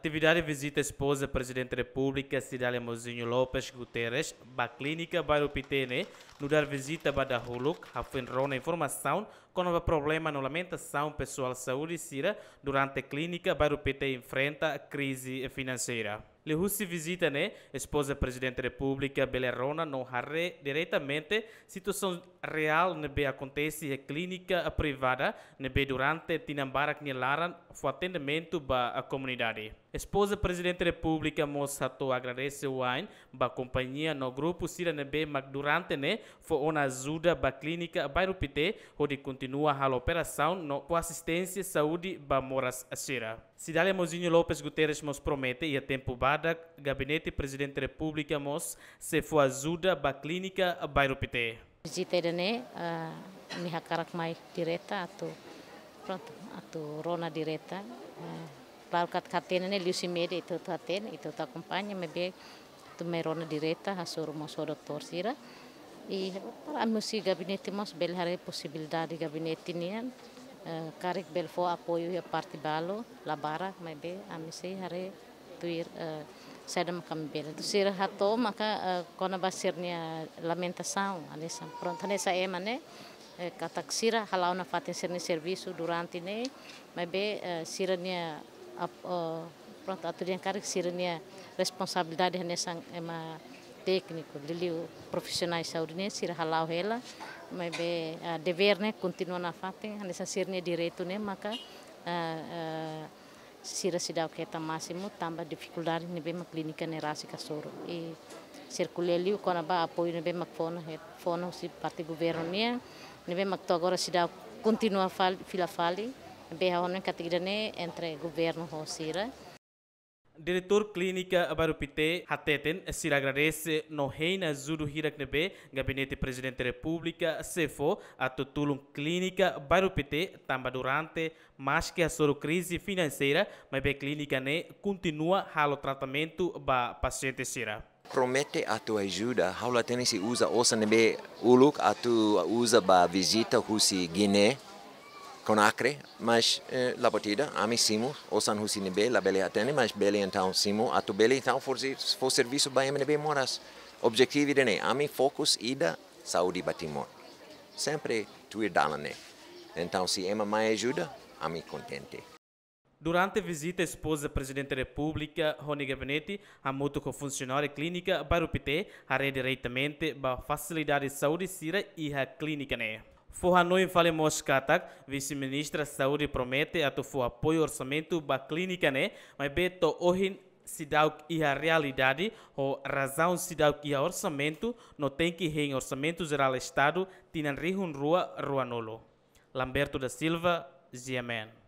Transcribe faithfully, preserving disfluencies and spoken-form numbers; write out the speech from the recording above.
Atividade vizita espoza Prezidente Repúblika Cidália Mouzinho Lopes Guterres ba Klínika Bairru Pité ne'e nu'udar vizita ba dahuluk, hafoin rona informasaun kona-ba problema no lamentasaun pesoál saúde sira durante Klínika Bairru Pité enfrenta krize finanseira. Liuhusi vizita ne'e, espoza Prezidente Repúblika bele rona no haree diretamente situasaun reál ne'ebé akontese iha klínika privada ne'ebé durante tinan barak nia laran fó atendimentu ba komunidade. Espoza Prezidente Repúblika mós hato'o agradese wa'in ba kompañia no grupu sira ne'ebé mak durante ne'e fó ona ajuda ba Klínika Bairru Pité hodi kontinua halo operasaun no fó asisténsia saúde ba moras sira. Cidália Mouzinho Lopes Guterres mós promete iha tempu badak Gabinete Prezidente Repúblika mós sei fó ajuda ba Klínika Bairru Pité. Vizita ida-ne'e, ah, ami hakarak mai direta atu, prontu, atu rona direta. Ah, klaru katak hatene ne'e liuhusi média ita hotu hatene, ita hotu akompaña, maibé atu mai rona direta, hasoru mós ho doutór sira. I para ami husi gabinete mós bele haree posibilidade gabinete nian, eh, karik bele fó apoiu iha parte balu, la barak, maibé ami sei haree tuir, eh, saida mak ami bele. Sira hato'o maka, eh, kona-ba sira-nia lamentasaun, hanesan, prontu, hanesan ema ne'e, eh, katak sira hala'o nafatin sira-nia servisu durante ne'e, maibé, eh, sira-nia ap-, eh, prontu, atu dehan karik sira-nia responsabilidade hanesan ema tékniku, liuliu profisionál saúde ne'e sira hala'o hela, maibé, eh, devér ne'e kontinua nafatin, hanesan sira-nia direitu ne'e maka, eh, eh, sira seidauk hetan másimu tanba difikuldade ne'ebé mak klínika ne'e rasik hasoru. I sira ko'alia liu kona-ba apoiu ne'ebé mak fó ona, fó ona husi parte governu nian, ne'ebé mak to'o agora seidauk kontinua fal-, fila fali, ne'ebé ha'u hanoin katak ida-ne'e entre governu ho sira. Diretór Klínika Bairru Pité hateten, sira agradese no hein ajuda hirak ne'ebé Gabinete Prezidente Repúblika sei fó atu tulun Klínika Bairru Pité tanba durante maski hasoru krize finanseira, maibé klínika ne'e kontinua halo tratamentu ba pasiente sira. Promete atu ajuda, ha'u la hatene se uza osan ne'ebé uluk atu uza ba vizita husi Guiné, Conakry, mas, eh, la buat ida, ami simu, osan husi ne'ebé labele hatene, mas bele entaun simu, atu bele entaun fó se-, fó servisu ba ema ne'ebé moras. Objetivu ida-ne'e, ami fokus ida saúde ba Timor. Sempre tuir dalan ne'e. Entaun, se ema mai ajuda, ami kontente. Durante vizita, espoza Prezidente Repúblika ho nia gabinete hamutuk ho funsionáriu Klínika Bairru Pité haree diretamente ba fasilidade saúde sira iha klínika ne'e. Fó hanoin fali mós katak, Vise-Ministra Saúde promete atu fó apoiu orsamentu ba klínika ne'e, maibé to'o ohin seidauk iha realidade, ho razaun seidauk iha orsamentu, no tenke hein Orsamentu Jerál Estadu tinan rihun rua ruanulu. Lamberto da Silva, G M N.